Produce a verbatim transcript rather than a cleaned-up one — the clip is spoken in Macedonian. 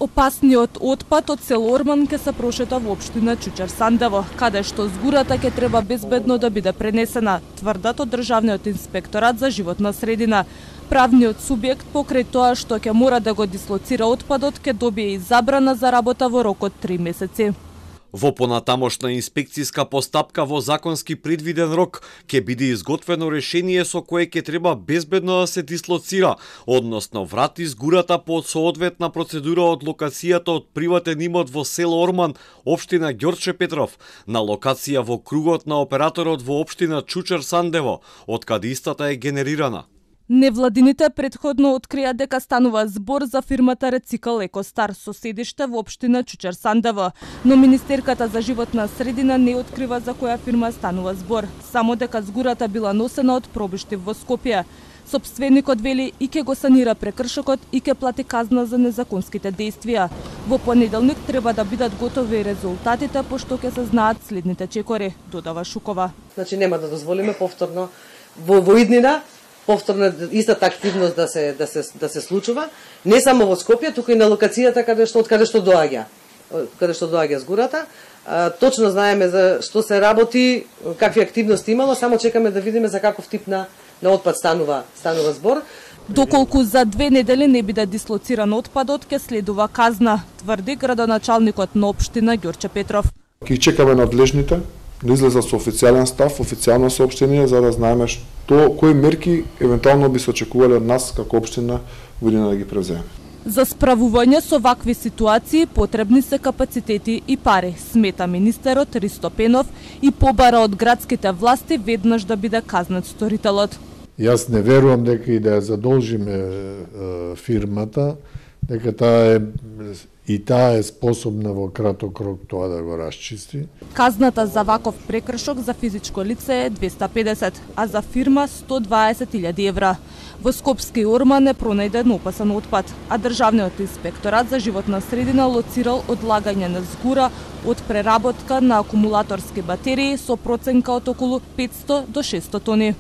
Опасниот отпад од село Орман ќе се прошета во општина Чучер Сандево, каде што згурата ќе треба безбедно да биде пренесена, тврдат од Државниот инспекторат за животна средина. Правниот субјект покрај тоа што ќе мора да го дислоцира отпадот ќе добие и забрана за работа во рок од три месеци. Во понатамошна инспекцијска постапка во законски предвиден рок ќе биде изготвено решение со кое ќе треба безбедно да се дислоцира, односно врати згурата по соодветна процедура од локацијата од приватен имот во село Орман, општина Ѓорче Петров, на локација во кругот на операторот во општина Чучер Сандево, од каде истата е генерирана. Невладините претходно открија дека станува збор за фирмата Рецикл Екостар со седиште во општина Чучер Сандево, но Министерката за животна средина не открива за која фирма станува збор, само дека згурата била носена од пробиштив во Скопје. Сопственикот вели и ќе го санира прекршокот и ќе плати казна за незаконските действија. Во понеделник треба да бидат готови резултатите, пошто ќе се знаат следните чекори, додава Шукова. Значи нема да дозволиме повторно во воиднина повторно истата активност да се да се да се случува, не само во Скопје, туку и на локацијата каде што од каде што доаѓа, каде што доаѓа згурата. А, точно знаеме за што се работи, какви активности имало, само чекаме да видиме за каков тип на на отпад станува станува збор. Доколку за две недели не биде дислоциран отпадот, ќе следува казна, тврди градоначалникот на општина Ѓорче Петров. Ќе чекаме надлежните да излезат со официјален став, официјално соопштение за да знаеме што кои мерки евентуално би се очекувале од нас како општина година да ги превземеме. За справување со вакви ситуации потребни се капацитети и пари, смета министерот Ристо Пенов и побара од градските власти веднаш да биде казнет сторителот. Јас не верувам дека и да ја задолжиме е, фирмата, дека таа е и таа е способна во краток рок тоа да го расчисти. Казната за ваков прекршок за физичко лице е двеста педесет, а за фирма сто дваесет илјади евра. Во Скопски Орман е пронајден опасен отпад, а Државниот инспекторат за животна средина лоцирал одлагање на згура од преработка на акумулаторски батерии со проценка од околу петсто до шестоста тони.